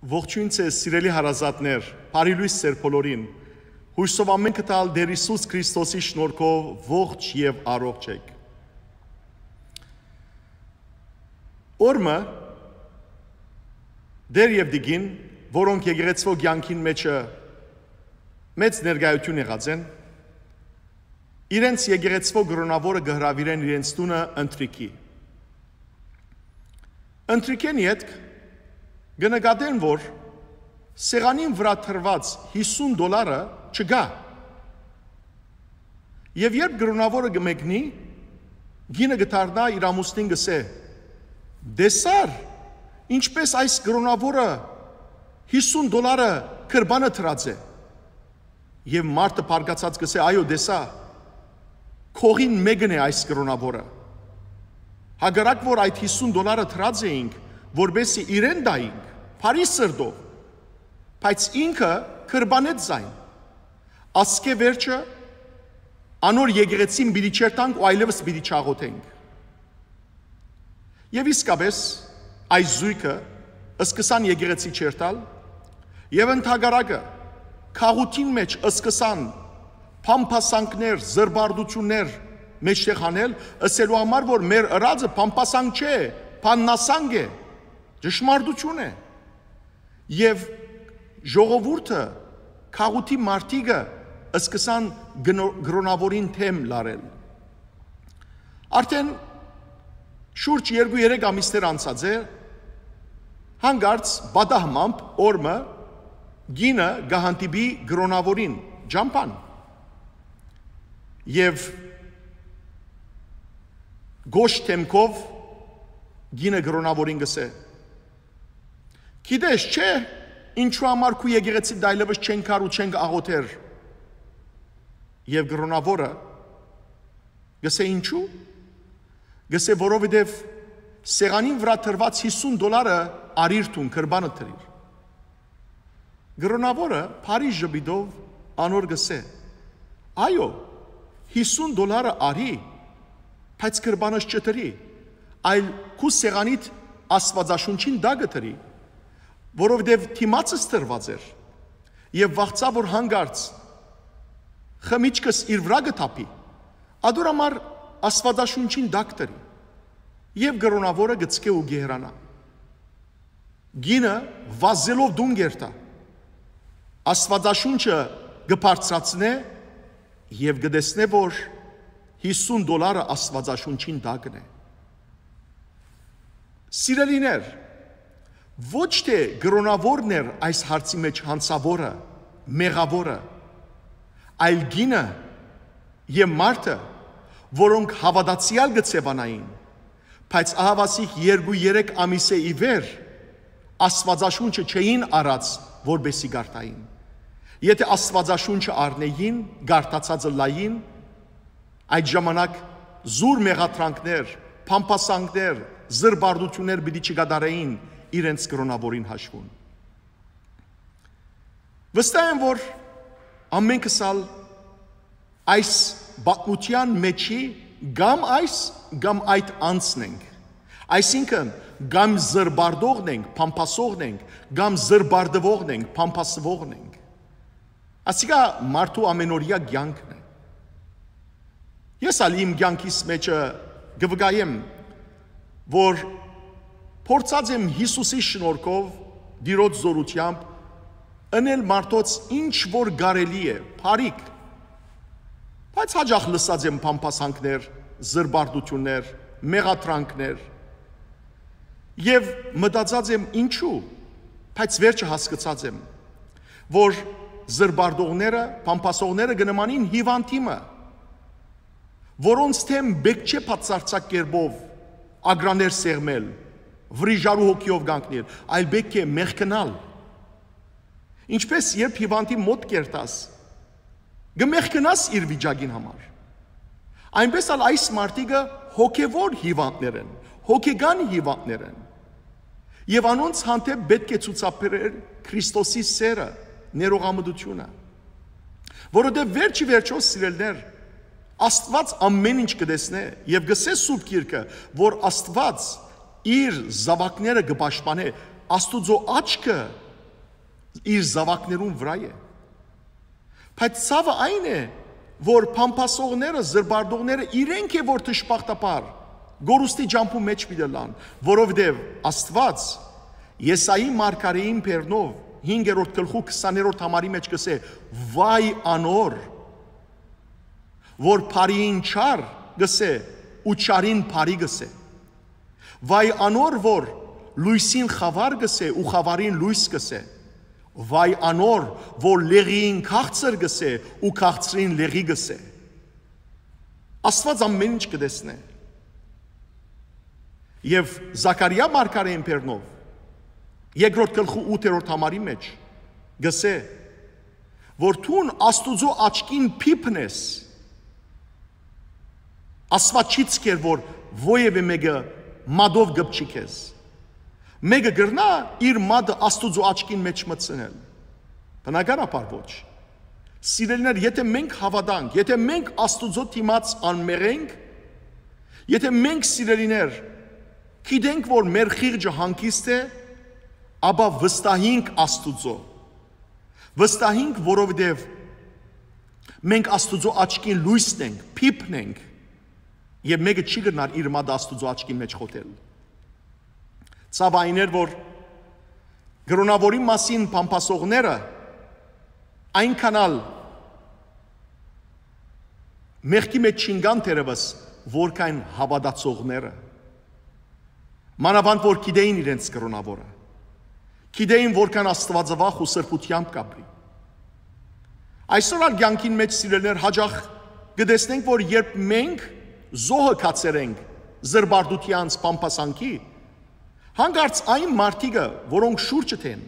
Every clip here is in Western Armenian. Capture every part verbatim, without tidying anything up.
Ողջոյն ձեզ, սիրելի հարազատներ, բարի լոյս ձեր բոլորին։ Յոյսով ամէնքը տալ Տէր Յիսուս Քրիստոսի շնորհքով ողջ եւ առողջ էք։ Օրմը Տէր եւ Տիկին, որոնք եկեղեցվո կեանքին մեջը մեծ ներկայութիւն եղած են, իրենց եկեղեցվո կրոնաւորը կը հրաւիրեն իրենց տունը ընթրիքի։ Ընթրիքէն ետք կը նկատեն, որ սեղանին վրայ դրուած յիսուն դոլարը չկայ։ Եւ երբ կրոնաւորը կը մեկնի, կինը կը դառնայ իր ամուսնին, կ'ըսէ. «Տեսա՞ր, ինչպէս այս կրոնաւորը յիսուն դոլարը գրպանը դրած է»։ Եւ մարդը բարկացած կ'ըսէ. «Այո, տեսայ, քողին մէկն է այս կրոնաւորը։ Հակառակ որ այդ յիսուն դոլարը դրած էինք, որպէսզի իրեն տայինք, բարի սրտով, բայց ինքը գրպանեց զայն։ Ասկէ վերջը անոր եկեղեցին պիտի չերթանք ու այլեւս պիտի չաղոթենք»։ Եւ իսկապէս, այս զոյգը սկսան եկեղեցի չերթալ, եւ ընդհակառակը, գաղութին մէջ սկսան փամփասանքներ, զրպարտութիւններ մէջտեղ անել, ըսելու համար, որ մեր ըրածը փամփասանք չէ, բաննասանք է, ճշմարտութիւն է։ Եւ ժողովուրդը, գաղութի մարդիկը սկսան կնո-, կրոնաւորին դէմ լարել։ Արդէն շուրջ երկու-երեք ամիսներ անցած է, հանկարծ պատահմամբ օրմը կինը կը հանդիպի կրոնաւորին ճամբան եւ գոհ դէմքով կինը կրոնաւորին կ'ըսէ. «Գիտես չէ, ինչու համար քու եկեղեցիդ այլեւս չեն գար ու չեն աղոթեր»։ Եւ կրոնաւորը կ'ըսէ. «Ինչու»։ Կ'ըսէ. «Որովհետեւ սեղանին վրայ դրուած յիսուն դոլարը առիր դուն, գրպանը դրիր»։ Կրոնաւորը բարի ժպիտով անոր կ'ըսէ. «Այո, յիսուն դոլարը առի, բայց գրպանս չդրի, այլ քու սեղանիդ Աստուածաշունչին տակը դրի, որովհետեւ դիմացս դրուած էր եւ վախցայ որ հանկարծ խմիչքս իր վրայ կը թափի, ատոր համար Աստուածաշունչին տակ դրի»։ Եւ կրոնաւորը կ'ցկէ ու կ'հեռանայ։ Կինը վազելով տուն կ'երթայ, Աստուածաշունչը կը բարձրացնէ եւ կը տեսնէ որ յիսուն դոլարը Աստուածաշունչին տակն է։ Սիրելիներ, ոչ թէ կրոնաւորն էր այս հարցի մէջ յանցաւորը, մեղաւորը, այլ կինը եւ մարդը, որոնք հաւատացեալ կը ձեւանային, բայց ահաւասիկ երկու-երեք ամիսէ ի վեր Աստուածաշունչը չէին առած, որպէսզի կարդային։ Եթէ Աստուածաշունչը առնէին, կարդացածը լային, այդ ժամանակ զուր մեղադրանքներ, փամփասանքներ, զրպարտութիւններ պիտի չկատարէին իրենց կրոնաւորին հաշվուն։ Վստահ եմ որ ամէնքս ալ այս պատմութեան մէջի կամ այս, կամ այդ անձն ենք։ Այսինքն, կամ զրպարտողն ենք, փամփասողն ենք, կամ զրպարտուողն ենք, փամփասվողն ենք։ Ասիկա մարդու ամենօրեայ կեանքն է։ Ես ալ իմ կեանքիս մէջը կը վկայեմ, որ փորձած եմ Յիսուսի շնորհքով, Տիրոջ զօրութեամբ, ընել մարդոց ինչ որ կարելի է, բարիք, բայց յաճախ լսած եմ փամփասանքներ, զրպարտութիւններ, մեղադրանքներ։ Եւ մտածած եմ ինչու, բայց վերջը հասկցած եմ, որ զրպարտողները, փամփասողները կը նմանին հիւանդի մը, որոնց դէմ պէտք չէ բացարձակ կերպով ագրաններ սեղմել, վրիժառու հոգիով կանգնել, այլ պէտք է մեղքնալ։ Ինչպէս երբ հիւանդի մօտ կ'երթաս, կը մեղքնաս իր վիճակին համար, այնպէս ալ այս մարդիկը հոգեւոր հիւանդներ են, հոգեկան հիւանդներ են։ Եւ անոնց հանդէպ պէտք է ցուցաբերել Քրիստոսի սէրը, ներողամտութիւնը։ Որովհետեւ վերջի վերջոյ, սիրելիներ, Աստուած ամէն ինչ կը տեսնէ եւ կ'ըսէ Սուրբ Գիրքը, որ Աստուած իր զաւակները կը պաշտպանէ, Աստուծոյ աչքը իր զաւակներուն վրայ է։ Բայց ցաւը այն է, որ փամփասողները, զրպարտողները իրենք է, որ դժբախտաբար կորուստի ճամբու մէջ պիտի ըլլան, որովհետեւ Աստուած Եսայի մարգարէին բերնով հինգերորդ գլխու քսաներորդ համարի մէջ կ'ըսէ. «Վայ անոր, որ բարիին չար կ'ըսէ ու չարին բարի կ'ըսէ։ Վայ անոր, որ լոյսին խաւար կ'ըսէ ու խաւարին լոյս կ'ըսէ։ Վայ անոր, որ լեղիին քաղցր կ'ըսէ ու քաղցրին լեղի կ'ըսէ»։ Աստուած ամեն ինչ կը տեսնէ։ Եւ Զաքարիա մարգարէին բերնով երկրորդ գլխու ութերորդ համարի մէջ կ'ըսէ, որ դուն Աստուծոյ աչքին փիփն ես։ Աստուած չի ցկեր, որ որեւէ մէկը մատով կպչի քեզ։ Մէկը կրնա իր մատը Աստուծոյ աչքին մէջ մտցնել։ Բնականաբար ոչ։ Սիրելիներ, եթե մենք հաւատանք, եթե մենք Աստուծոյ դիմաց անմեղ ենք, եթե մենք, սիրելիներ, գիտենք, որ մեր խիղճը հանգիստ է, ապա վստահինք Աստուծոյ։ Վստահինք, որովհետեւ մենք Աստուծոյ աչքին լոյսն ենք, փիփն ենք, եւ մէկը չի կրնար իր մատը Աստուծոյ աչքին մէջ խոթել։ Ցաւ այն էր, որ կրոնաւորին մասին փամփասողները այնքան ալ մեղքի մէջ չինկան թերեւս, որքան հաւատացողները։ Մանաւանդ որ գիտէին իրենց կրոնաւորը, գիտէին որքան աստուածավախ ու սրբութեամբ կ'ապրի։ Այսօր ալ կեանքին մէջ, սիրելիներ, յաճախ կը տեսնենք, որ երբ մենք զոհը գացեր ենք զրպարտութեանց, փամփասանքի, հանկարծ այն մարդիկը, որոնք շուրջդ են,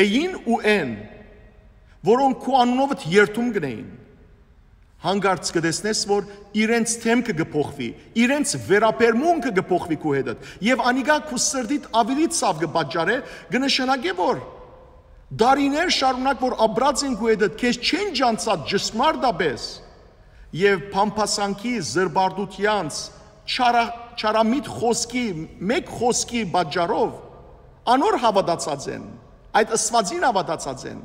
էին ու են, որոնք քու անունովդ երդում կ'ընէին, հանկարծ կը տեսնես, որ իրենց դէմքը կը փոխուի, իրենց վերաբերմունքը կը փոխուի քու հետդ, եւ անիկա քու սրտիդ աւելի ցաւ կը պատճառէ, կը նշանակէ, որ տարիներ շարունակ որ ապրած են քու հետդ, քեզ չեն ճանչցած ճշմարտապէս, եւ փամփասանքի, զրպարտութեանց, չարա-, չարամիտ խօսքի, մէկ խօսքի պատճառով անոր հաւատացած են, այդ Աստուածին հաւատացած են,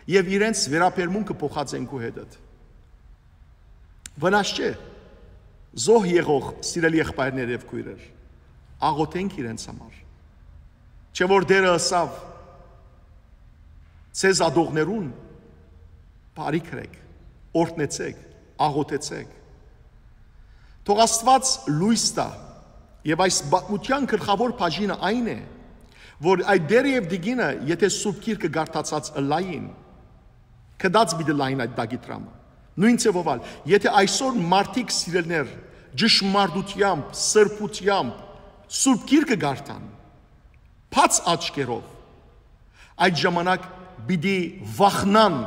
եւ իրենց վերաբերմունքը փոխած են քու հետդ։ Վնաս չէ, զոհ եղող սիրելի եղբայրներ եւ քոյրեր, աղոթենք իրենց համար։ Չէ՞ որ Տէրը ըսաւ. «Ձեզ ատողներուն բարիք ըրէք, օրհնեցէք, աղոթեցէք»։ Թող Աստուած լոյս տայ, եւ այս պատմութեան գլխաւոր բաժինը այն է, որ այդ Տէրը եւ Տիկինը, եթե Սուրբ Գիրքը կարդացած ըլլային, գտած պիտի լային այդ տակի դրամը։ Նոյն ձեւով ալ, եթե այսօր մարդիկ, սիրելիներ, ճշմարտութեամբ, սրբութեամբ Սուրբ Գիրքը կարդան, բաց աչքերով, այդ ժամանակ պիտի վախնան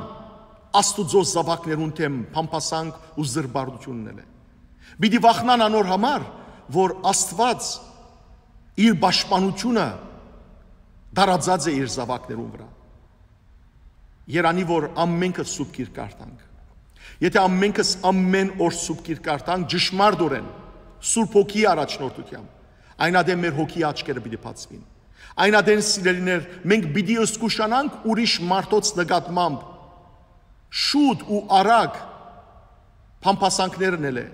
Աստուծոյ զաւակներուն դէմ փամփասանք ու զրպարտութիւն ընելէ։ Պիտի վախնան անոր համար, որ Աստուած իր պաշտպանութիւնը տարածած է իր զաւակներուն վրայ։ Երանի որ ամենքը Սուրբ Գիրք կարդանք։ Եթե ամենքս ամեն օր Սուրբ Գիրք կարդանք, ճշմարտօրէն, Սուրբ Հոգիի առաջնորդութեամբ, այն ատեն մեր հոգիի աչքերը պիտի բացուին։ Այն ատեն, սիրելիներ, մենք պիտի զգուշանանք ուրիշ մարդոց նկատմամբ շուտ ու արագ փամփասանքներ ընելէ,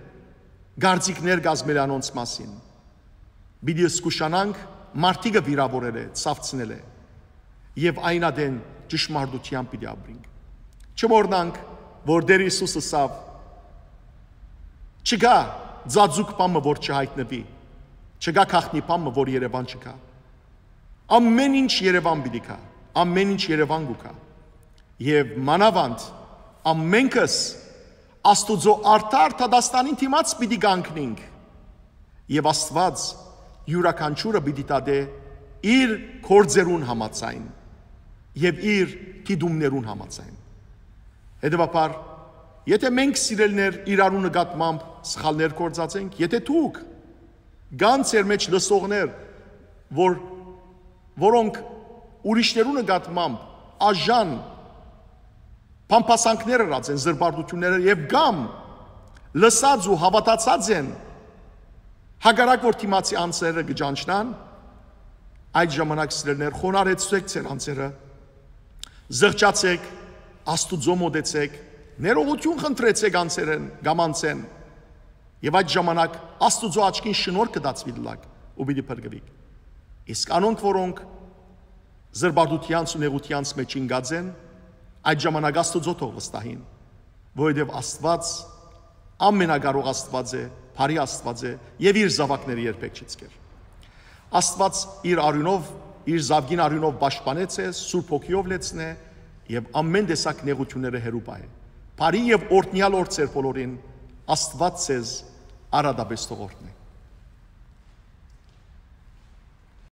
կարծիքներ կազմելէ անոնց մասին։ Պիտի զգուշանանք մարդիկը վիրաւորելէ, ցաւցնելէ, եւ այն ատեն ճշմարտութեամբ պիտի ապրինք։ Չմոռնանք, որ Տէր Յիսուս ըսաւ. «Չկայ ծածուկ բան մը, որ չյայտնուի, չկայ գաղտնի բան մը, որ երեւան չկայ»։ Ամեն ինչ երեւան պիտի գայ, ամեն ինչ երեւան կու գայ։ Եւ մանաւանդ ամենքս Աստուծոյ արդար դատաստանին դիմաց պիտի կանգնինք, եւ Աստուած իւրաքանչիւրը պիտի դատէ իր գործերուն համաձայն եւ իր դիտումներուն համաձայն։ Հետեւաբար, եթե մենք, սիրելիներ, իրարու նկատմամբ սխալներ գործած ենք, եթե դուք, կան ձեր մէջ լսողներ, որ, որոնք ուրիշներու նկատմամբ աժան փամփասանքներ ըրած են, զրպարտութիւնները, եւ կամ լսած ու հաւատացած են, հակառակ որ դիմացի անձերը կը ճանչնան, այդ ժամանակ, սիրելիներ, խոնարհեցուցէք ձեր անձերը, Զղջացէք, Աստուծոյ մօտեցէք, ներողութիւն խնդրեցէք անձերէն կամ անձէն, եւ այդ ժամանակ Աստուծոյ աչքին շնորհքը տածուի դլակ ու պիտի փրկուիք։ Իսկ անոնք, որոնք զրպարտութեանց ու նեղութեանց մէջ ինկած են, այդ ժամանակ Աստուծոյ թող վստահին, որովհետեւ Աստուած ամենակարող Աստուած է, բարի Աստուած է եւ իր զաւակները երբեք չի ցկեր։ Աստուած իր արիւնով, իր զաւկին արիւնով պաշտպանեց է, Սուրբ Հոգիով լեցնէ եւ ամեն տեսակ նեղութիւնները հեռու պահէ։ Բարի եւ օրհնեալ օր ձեր բոլորին, Աստուած ձեզ արատապէս թող օրհնէ։